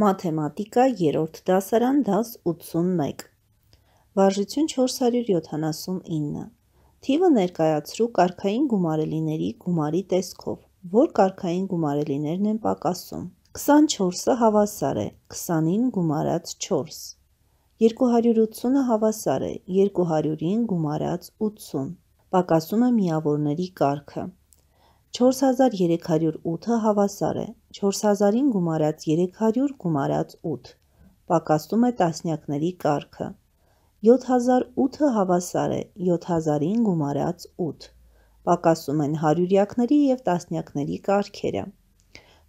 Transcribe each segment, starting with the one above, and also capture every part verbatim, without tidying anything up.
Մաթեմատիկա երրորդ դասարան դաս ութսունմեկ Վարժություն չորս հարյուր յոթանասունինը Թիվը ներկայացրու կարգային գումարելիների գումարի տեսքով, որ կարգային գումարելիներն են պակասում։ քսանչորսը հավասար է քսանին գումարած չորս, երկու հարյուր ութսունը հավասար է երկու հարյուրին գումարած ութսուն, պակասում է միավորների կարգը։ չորս հազար երեք հարյուր ութը հավասար է չորս հազարին գումարած երեք հարյուր գումարած ութ, պակասում է տասնյակների կարգը։ յոթ հազար ութը հավասար է յոթ հազարին գումարած ութ, պակասում են հարյուրյակների և տասնյակների կարգերը։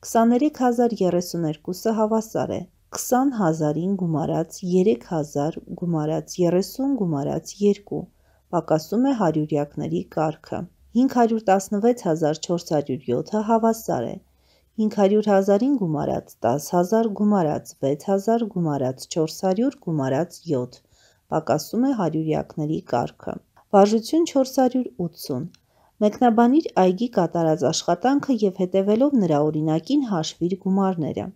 քսաներեք հազար երեսուներկուսը հավասար է քսան հազարին գումարած երեք հազար գումարած երեսուն գումարած երկու, պակասում է հարյուրյակների կարգը։ հինգ հարյուր տասնվեց հազար չորս հարյուր յոթը հավասար է հինգ հարյուր հազարին գումարած տաս հազար գումարած վեց հազար գումարած չորս հարյուր գումարած յոթ, պակասում է հարյուրյակների կարգը։ Վարժություն չորս հարյուր ութսուն Մեկնաբանիր այգի կատարած աշխատանքը և հետևելով նրա օրինակին հաշվիր գումարները։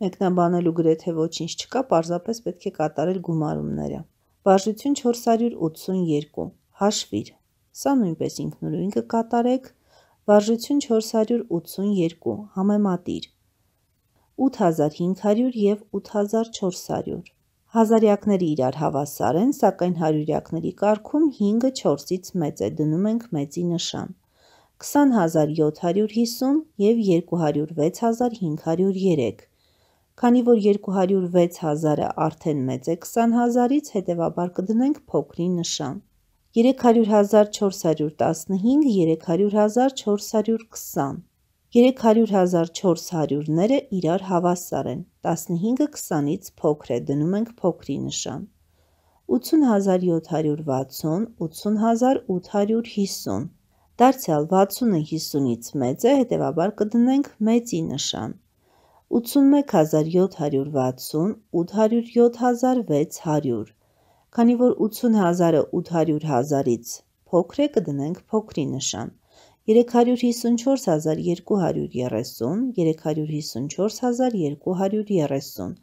Մեկնաբանելու գրեթե ոչինչ չկա, պարզապես պետք է կատարել գումարումները։ Վարժություն չորս հարյուր ութսունյոթ Հաշվիր։ Սա նույնպես ինքնուրույն կկատարեք։ Վարժություն չորս հարյուր ութսունյոթ Համեմատիր։ ութ հազար հինգ հարյուր և ութ հազար չորս հարյուր Հազարյակները իրար հավասար են, սակայն հարյուրյակների կարգում հինգը չորսից մեծ է, դնում ենք մեծի նշան։ քսան հազար յոթ հարյուր հիսուն և երկու հարյուր վեց հազար հինգ հարյուր երեք Քանի որ երկու հարյուր վեց հազարը արդեն մեծ է քսան հազարից, հետևաբար կդնենք փոքրի նշան։ երեք հարյուր հազար չորս հարյուր տասնհինգ երեք հարյուր հազար չորս հարյուր քսան երեք հարյուր հազար չորս հարյուրները իրար հավասար են, տասնհինգը քսանից փոքր է, դնում ենք փոքրի նշան։ ութսուն հազար յոթ հարյուր վաթսուն ութսուն հազար ութ հարյուր հիսուն Դարձյալ վաթսունը հիսունից մեծ է, հետևաբար կդնենք մեծի նշան։ ութսունմեկ հազար յոթ հարյուր վաթսուն ութ հարյուր յոթ հազար վեց հարյուր Քանի որ ութսուն հազարը ութ հարյուր հազարից փոքր է, կդնենք փոքրի նշան։ երեք հարյուր հիսունչորս հազար երկու հարյուր երեսուն երեք հարյուր հիսունչորս հազար երկու հարյուր երեսուն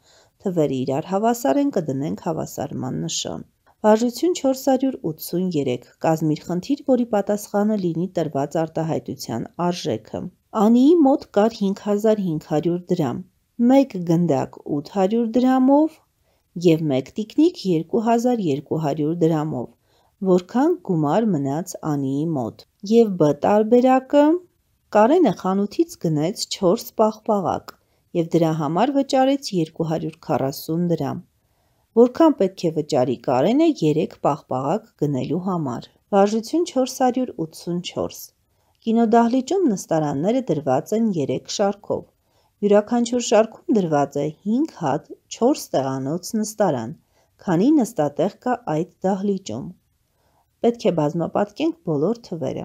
Թվերը իրար հավասար են, կդնենք հավասարման նշան։ Վարժություն չորս հարյուր ութսունյոթ Կազմիր խնդիր, որի պատասխանը լինի տրված արտահայտության արժեքը։ Անիի մոտ կար հինգ հազար հինգ հարյուր դրամ, մեկ գնդակ ութ հարյուր դրամով և մեկ տիկնիկ երկու հազար երկու հարյուր դրամով։ Որքան գումար մնաց Անիի մոտ։ Եվ Բ տարբերակը Կարենը խանութից գնեց չորս պաղպաղակ և դրա համար վճարեց երկու հարյուր քառասուն դրամ։ Որքան պետք է վճարի Կարենը երեք պաղպաղակ գնելու համար։ Վարժություն չորս հարյուր ութսունչորս Կինոդահլիճում նստարանները դրված են երեք շարքով։ Յուրաքանչյուր շարքում դրված է հինգ հատ չորս տեղանոց նստարան, քանի նստատեղ կա այդ դահլիճում։ Պետք է բազմապատկենք բոլոր թվերը։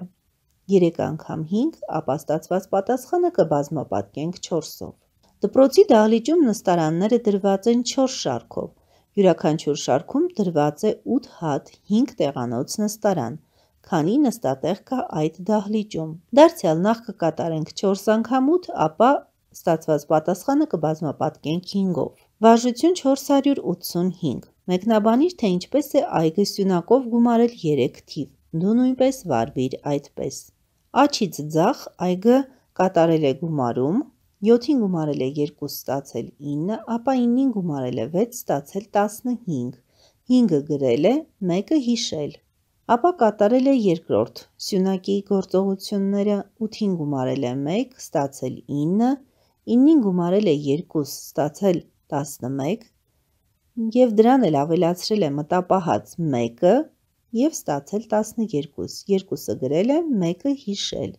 երեք անգամ հինգ, ապա ստացված պատասխանը կբազմապատկենք չորսով։ Դպրոցի դահլիճում նստարանները դրված են չորս շարքով։ Յուրաքանչյուր շարքում դրված է ութ հատ հինգ տեղանոց նստարան, քանի նստատեղ կա այդ դահլիճում։ Դարձյալ նախ կկատարենք չորս անգամ ութ, ապա ստացված պատասխանը կբազմապատկենք հինգով։ Վարժություն չորս հարյուր ութսունհինգ Մեկնաբանիր, թե ինչպես է այգը սյունակով գումարել երեք թիվ։ Դու նույնպես վարվիր այդպես։ Աջից ձախ այգը կատարել է գումարում, յոթին գումարել է երկու, ստացել ինը, ապա ինին գումարել է վեց, ստացել տասնհինգ, հինգը գրել է, մեկը հիշել։ Ապա կատարել է երկրորդ սյունակի գործողությունները, ութին գումարել է մեկ, ստացել ինը, ինին գումարել է երկու, ստացել տասնմեկ և դրան էլ ավելացրել է մտապահած մեկը և ստացել տասներկու, երկուսը գրել է, մեկը հիշել։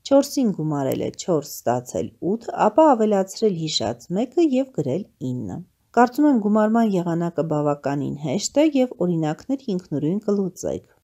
չորսին գումարել է չորս, ստացել ութ, ապա ավելացրել հիշած մեկը և գրել ինը։ Կարծում եմ գումարման եղանակը բավականին հեշտ է և օրինակներ ինքնուրույն կլուծեք։